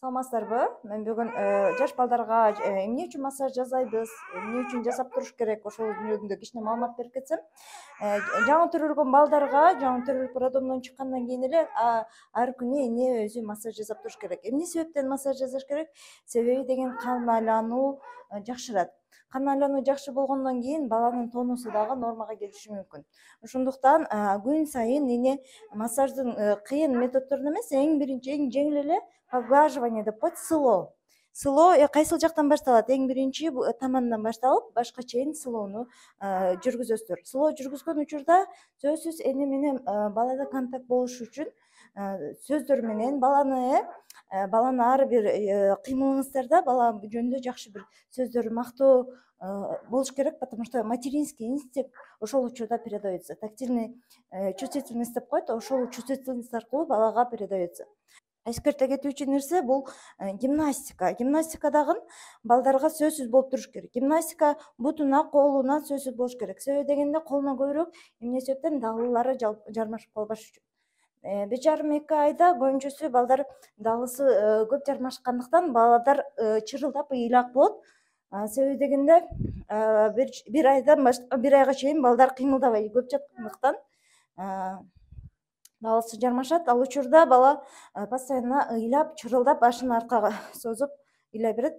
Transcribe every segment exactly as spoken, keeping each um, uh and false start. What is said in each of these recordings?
Саламатсыздарбы? Мен бүгүн жаш балдарга эмне үчүн массаж жасайбыз, эмне үчүн жасап туруш керек, ошол жөнүндө кичине маалымат берип кетсем. Жаңы төрөлгөн балдарга, жаңы төрөлүп роддомдон чыккандан кийин эле ар күнү эне өзү массаж жасап туруш керек. Эмне себептен массаж жасаш керек? Себеби деген кан айлануу жакшырат. Кан айлануу жакшы болгондон кийин баланын тонусу дагы нормага келиши мүмкүн. Ошондуктан күн сайын эне массаждын кыйын методдорун эмес, эң биринчи, эң жеңил эле поглаживание деп коет, сылоо. Сылоо кайсыл жактан башталат? Эң биринчи тамандан башталып, башка чейин сылоону жүргүзөсүздөр. Сылоо жүргүзгөн учурда сөзсүз эне менен балада контакт болуш үчүн сөздөр менен баланы баланы ар бир кыймылыңыздарда бала жөнүндө жакшы бир сөздөр, мактоо болуш керек, потому что материнский инстинкт ошол учурда передается. Тактильный чувствительность деп коет, ошол чувствительность аркылуу балага передается. Эскерте кетүүчү нерсе бул гимнастика. Гимнастика дагы балдарга сөзсүз болуп туруш керек. Гимнастика бутуна, колуна сөзсүз болуш керек. Себеби дегенде колуна көбүрөөк эмне себептен далылары жармашып калбаш үчүн. Беш жарым эки айда көбүнчөсү балдар далысы көп жармашкандыктан балдар чырылдап ыйлак болот. Себеби дегенде бир айдан бир айга чейин балдар кыймылдабай көп жаткандыктан далысы жармашат. Ал учурда бала постоянно ыйлап, чырылдап, башын аркага созуп ыйлай берет.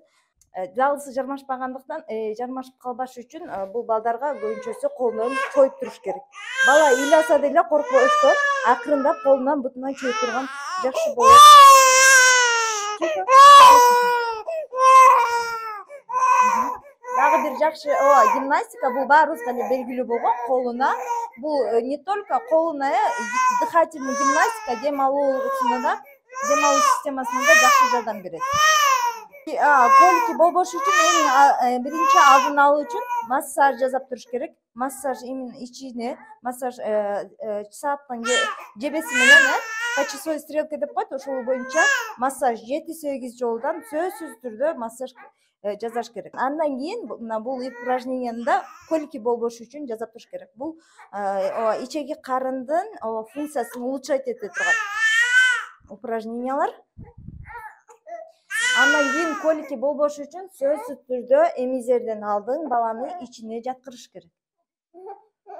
Далысы жармашпагандыктан, жармашып калбаш үчүн бул балдарга көбүнчөсү колунан чоюп туруш керек. Бала ыйласа деле коркпостон акырындап колунан бутунан чоюп турган жакшы болот. Дагы бир жакшы гимнастика бул баарыбызга эле белгилүү болгон, колуна. Бул не только колуна, дыхательный гимнастика дем алуусуна да, дем алуу системасына да жакшы жардам берет. Колики болбош үчүн эң биринчи алдын алуу үчүн массаж жасап туруш керек. Массаж именно ичине, массаж сааттын жебеси менен, по часовой стрелке деп коет, ошол боюнча массаж жети сегиз жолдон сөзсүз түрдө массаж жасаш керек. Андан кийин бул упражненияны да колики болбош үчүн жасап туруш керек. Бул ичеги карындын функциясын улучшать эте турган упражнениялар. Андан кийин колики болбош үчүн сөзсүз түрдө эмизерден алдын баланы ичине жаткырыш керек.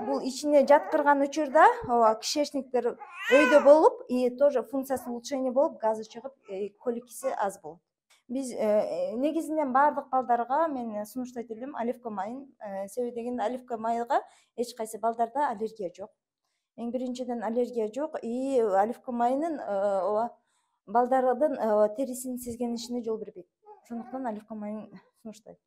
Бул ичине жаткырган учурда кишечниктер өйдө болуп, и тоже функциясы улучшение болуп, газы чыгып, коликиси аз болот. Биз негизинен баардык балдарга мен сунуштайт элем оливка майын. Себеби дегенде оливка майга эч кайсы балдарда аллергия жок. Эң биринчиден аллергия жок, и оливка майынын балдардын терисинин сезгенишине жол бербейт. Ошондуктан оливка майын сунуштайт.